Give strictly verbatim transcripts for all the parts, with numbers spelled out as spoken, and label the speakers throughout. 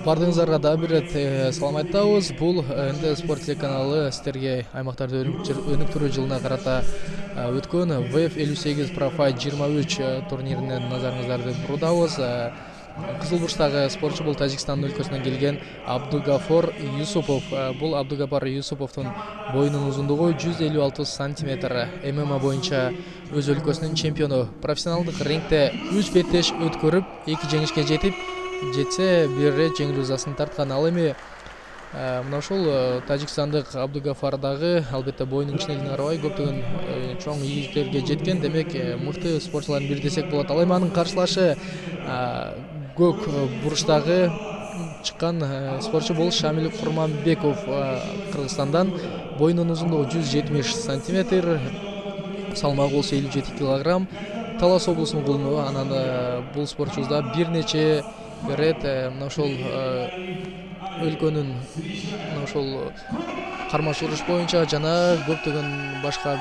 Speaker 1: Бардыңыздарга дагы бир ирет салам айтабыз. Бул Энде спорт телеканалы сиздерге аймактарда өнүктүрүү жылына карата өткөн вэ эф элүү сегиз Профайт жыйырма үч турниринен назарыңыздарды буруудабыз. Кызыл бурчтагы спортчу бул Тажикстан өлкөсүнөн келген Абдугафор Юсупов. Бул Абдугафор Юсуповдун боюнун узундугу жүз элүү алты сантиметр. эм эм а боюнча өз өлкөсүнүн чемпиону. Профессионалдык рингде үч беттеш өткөрүп, эки жеңишке жетип, жетсе бир ирет жеңил жазасын тарткан. Ал эми мына ушул Тажикстандык Абдугафор дагы албетте боюнун кичинелигине карабай көптөгөн чоң ийгиликтерге жеткен. Демек, мыкты спортчулардын бири десек болот. Ал эми анын каршылашы көк бурчтагы чыккан спортчу бул Шамил Курманбеков Кыргызстандан. Боюнун узундугу жүз жетимиш сантиметр, салмагы болсо элүү жети килограмм. Талас облусунун кулуну. Анан бул спортчубуз да бир нече ирет мына ошол өлкөнүн мына ошол кармаш уруш боюнча жана көптөгөн башка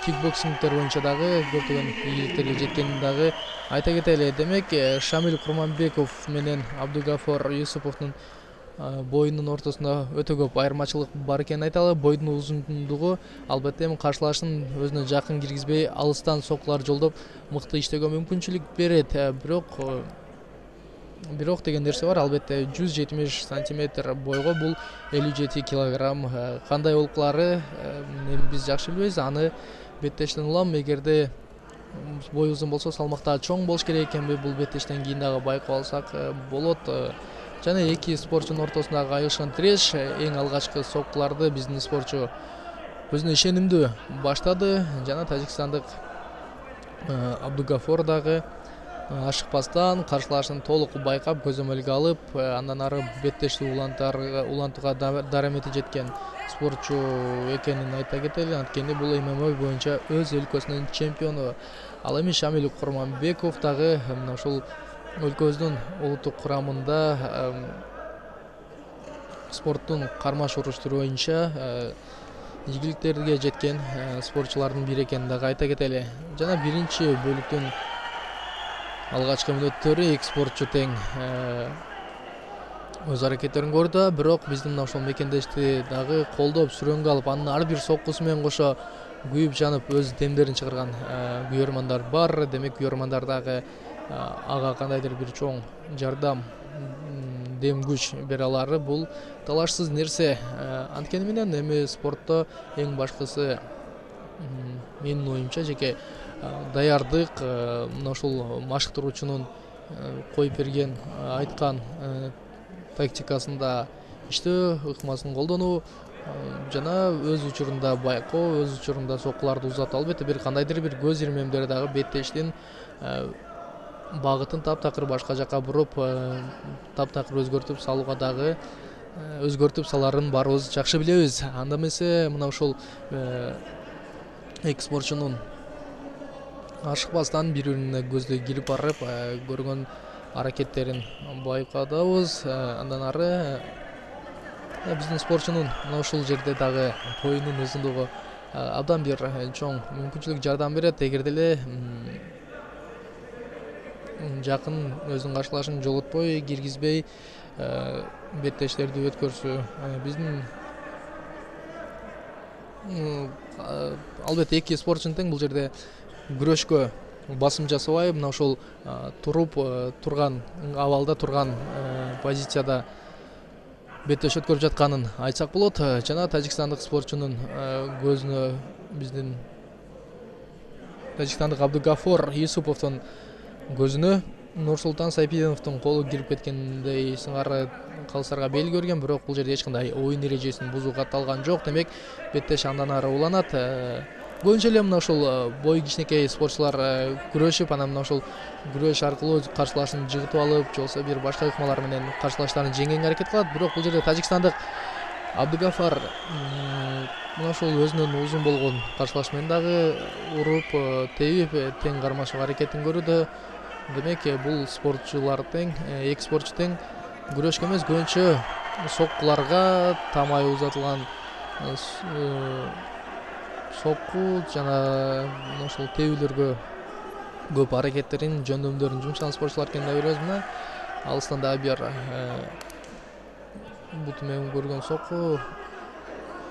Speaker 1: кикбоксингдер боюнча дагы көптөгөн ийгиликтерге жеткенин дагы айта кетели. Демек, Шамил Курманбеков менен Абдугафор Юсуповдун боюнун ортосунда өтө көп айырмачылык бар экенин айталы. Бойдун узундугу албетте эми каршылашын өзүнө жакын киргизбей, алыстан соккулар жолдоп мыкты иштөөгө мүмкүнчүлүк берет. Бирок бирок деген нерсе бар. Албетте жүз жетимиш сантиметр бойго бул элүү жети килограмм кандай болуклары биз жакшы билбейбиз. Аны беттештен улам, эгерде бой узун болсо салмакта чоң болуш керек экенби, бул беттештен кийин дагы байкап алсак болот. Жана эки спортчунун ортосундагы айылышкан тиреш, эң алгачкы соккуларды биздин спортчу өзүнө ишенимдүү баштады. Жана Тажикстандык Абдугафор дагы ашыкпастан каршылашын толук байкап, көзөмөлгө алып, андан ары беттешти улантууга дарамети жеткен спортчу экенин айта кетели. Анткени бул эм эм а боюнча өз өлкөсүнүн чемпиону. Ал эми Шамил Курманбеков дагы мына ушул өлкөбүздүн улуттук курамында спорттун кармаш уруш түрү боюнча ийгиликтерге жеткен спортчулардын бири экенин дагы айта кетели. Жана биринчи бөлүктүн алгачкы мүнөттөрү эки спортчу тең өз аракеттерин көрдү. Бирок биздин мына ошол мекендешти дагы колдоп, сүрөнгө алып, анын ар бир соккусу менен кошо күйүп жанып өз демдерин чыгарган күйөрмандар бар. Демек, күйөрмандар дагы ага кандайдыр бир чоң жардам, дем күч бере алары бул талашсыз нерсе. Анткени менен эми спортто эң башкысы менин оюмча жеке даярдык, мына ушул машыктыруучунун коюп берген, айткан тактикасында иштөө, ыкмасын колдонуу жана өз учурунда байкоо, өз учурунда соккуларды узатуу. Албетте бир кандайдыр бир көз ирмемдер дагы беттештин багытын таптакыр башка жака буруп, таптакыр өзгөртүп салууга дагы өзгөртүп саларын баарыбыз жакшы билебиз. Анда эмесе мына ушул эки спортчунун ашыкпастан бири-бирине көздөй кирип барып көргөн аракеттерин байкадабыз. Андан ары биздин спортчунун мына ушул жерде дагы боюнун узундугу абдан бир чоң мүмкүнчүлүк жардам берет. Эгерде эле жакын өзүнүн каршылашын жолотпой, киргизбей беттештерди өткөрсө, биздин албетте эки спортчу тең бул жерде күрөшкө басым жасабай, мына ушул туруп турган абалда турган позицияда беттеш өткөрүп жатканын айтсак болот. Жана тажикстандык спортчунун көзүнө биздин тажикстандык Абдугафор Юсуповдун көзүнө Нурсултан Сайпидиновдун колу кирип кеткендей сыңары калыстарга белги берген. Бирок бул жерде эч кандай оюн эрежесин бузуу катталган жок. Демек, беттеш андан ары уланат. Көбүнчө эле мына ушул бою кичинекей спортчулар күрөшүп, анан мына ушул күрөш аркылуу каршылашын жыгытып алып, же болбосо бир башка ыкмалар менен каршылаштарын жеңгенге аракет кылат. Бирок бул жерде тажикстандык Абдугафор мына ушул өзүнүн узун болгон каршылашы менен дагы уруп, тебип, тең кармашууга аракетин көрүүдө. Демек, бул спортчулар тең, эки спортчу тең күрөшкө эмес, көбүнчө соккуларга тамай узатылган сокку жана ушул тебүүлөргө көп аракеттерин жөндөмдөрүн жумшаган спортчулар экенин да көрөбүз. Мына алыстан дагы бир буту менен көргөн сокку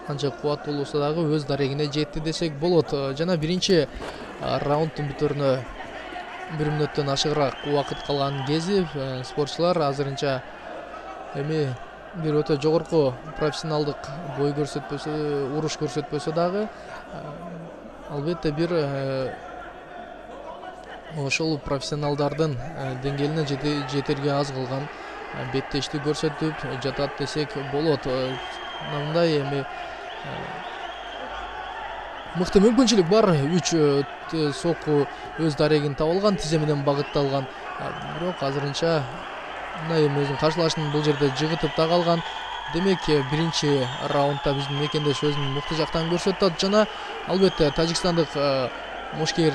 Speaker 1: канча кубаттуу болсо дагы өз дарегине жетти десек болот. Жана биринчи раунддун бүтөрүнө бир мүнөттөн ашыгыраак убакыт калган кези спортчулар азырынча эми бир өтө жогорку профессионалдык бой көрсөтпөсө, уруш көрсөтпөсө дагы албетте бир ошол профессионалдардын деңгээлине жетерге аз калган беттештик көрсөтүп жатат десек болот. Мындай эми мыкты мүмкүнчүлүк бар. Үч сокку өз дарегин таап алган, тизе менен багытталган. Бирок азырынча мындай эми өзүнүн каршылашын бул жерде жыгытып да калган. Демек биринчи раундда биздин мекендеш өзүн мыкты жактан көрсөтөт жана албетте тажикстандык мушкер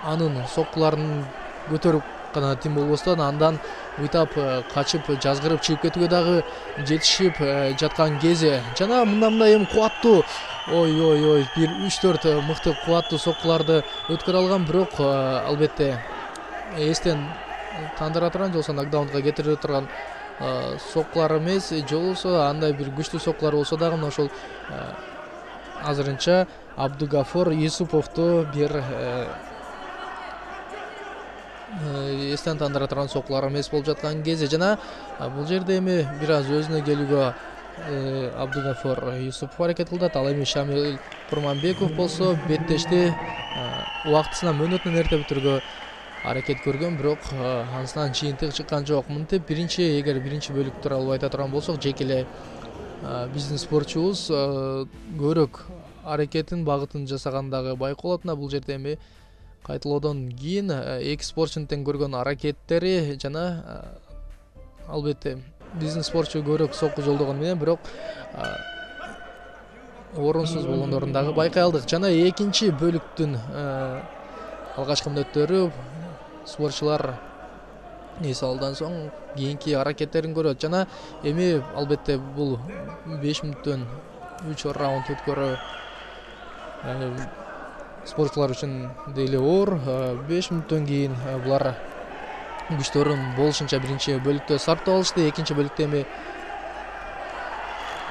Speaker 1: анын соккуларын көтөрүп гана тим болбостон андан уйтап качып жазгырып чыгып кетүүгө дагы жетишип жаткан кези. Жана мындай мындай эми кубаттуу ой ой ой бир үч төрт мыкты кубаттуу соккуларды өткөрө алган, бирок албетте эстен тандыра турган же болбосо нокдаунга кетире турган соккулар эмес, же болбосо андай бир күчтүү соккулар болсо дагы мына ошол азырынча Абдугафор Юсуповду бир эстен тандыра турган соккулар эмес болуп жаткан кези. Жана бул жерде эми бир аз өзүнө келүүгө Абдугафор Юсупов аракет кылат. Ал эми Шамил Курманбеков болсо беттешти убактысына мөөнөтүнөн эрте бүтүргө аракет көргөн, бирок анысынан жыйынтык чыккан жок. Мынтип биринчи эгер биринчи бөлүк тууралуу айта турган болсок, жеке эле биздин спортчубуз көбүрөөк аракетин багытын жасаган дагы байкалат. Мына бул жерде эми кайталоодон кийин эки спортчунун тең көргөн аракеттери жана албетте биздин спортчу көбүрөөк сокку жолдогон менен бирок орунсуз болгондорун дагы байкай алдык. Жана экинчи бөлүктүн алгачкы мүнөттөрү спортчулар эс алдан соң кийинки аракеттерин көрөт. Жана эми албетте бул беш мүнөттөн үч раунд өткөрүү спортчулар үчүн деле оор. беш мүнөттөн кийин булар күчтөрүн болушунча биринчи бөлүктө сарптап алышты. Экинчи бөлүктө эми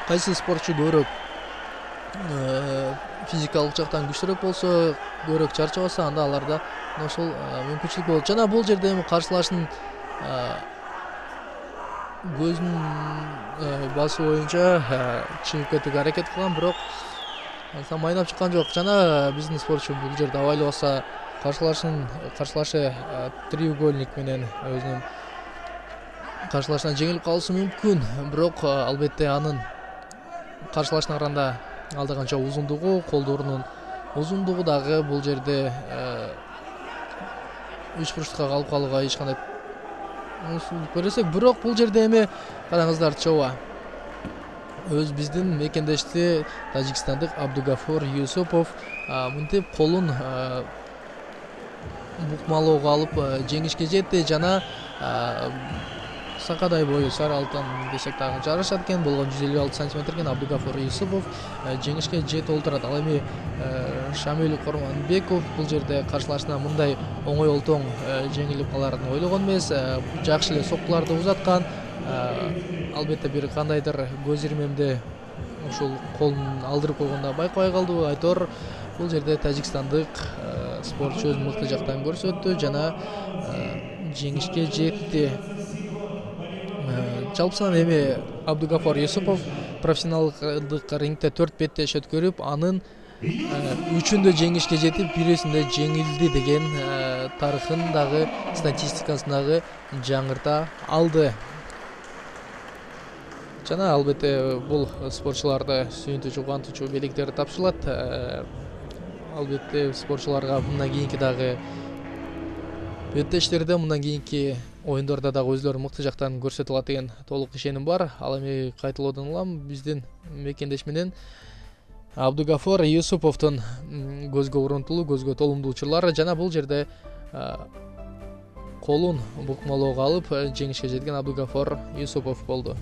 Speaker 1: кайсы спортчу көбүрөөк физикалык жактан күчтүүрөөк болсо, көбүрөөк чарчабаса, анда аларда ошол мүмкүнчүлүк болот. Жана бул жерде эми каршылаштын көзүнүн басуу боюнча чыгып кетүүгө аракет кылган, бирок ансам майнап чыккан жок. Жана биздин спортчу бул жерде абайлабаса каршылашын каршылашы треугольник менен өзүнүн каршылашынан жеңилип калышы мүмкүн, бирок албетте анын каршылашына караганда алда канча узундугу, колдорунун узундугу дагы бул жерде үч бурчтукка калып калууга эч кандай мусулдук бересек, бирок бул жерде эми караңыздар чоба өз биздин мекендешти тажикстандык Абдугафор Юсупов мынтип колун букмалоого алып жеңишке жетти. Жана сакадай бою сары алтын десек дагы жарашат экен, болгон жүз элүү алты сантиметр экен. Абдугафор Юсупов жеңишке жетип олтурат. Ал эми Шамил Курманбеков бул жерде каршылашына мындай оңой олтоң жеңилип каларын ойлогон эмес, жакшы эле соккуларды узаткан. Албетте бир кандайдыр көз ирмемде ушул колун алдырып койгонда байкабай калды. Айтор бул жерде тажикстандык спортчу өзүн мыкты жактан көрсөттү жана жеңишке жетти. Жалпысынан эми Абдугафор Юсупов профессионалдык рингде төрт беттеш өткөрүп, анын үчүндө жеңишке жетип, бирөөсүндө жеңилди деген тарыхын дагы статистикасын дагы жаңырта алды. Жана албетте бул спортчуларды сүйүнтүүчү, кубантуучу белектер тапшырылат. Албетте спортчуларга мындан кийинки дагы беттештерде, мындан кийинки оюндарда дагы өзлөрүн мыкты жактан көрсөтө алат деген толук ишеним бар. Ал эми кайталоодон улам биздин мекендеш менен Абдугафор Юсуповдун көзгө урунтулуу, көзгө толумдуу учурлары жана бул жерде колун букмалоого алып жеңишке жеткен Абдугафор Юсупов болду.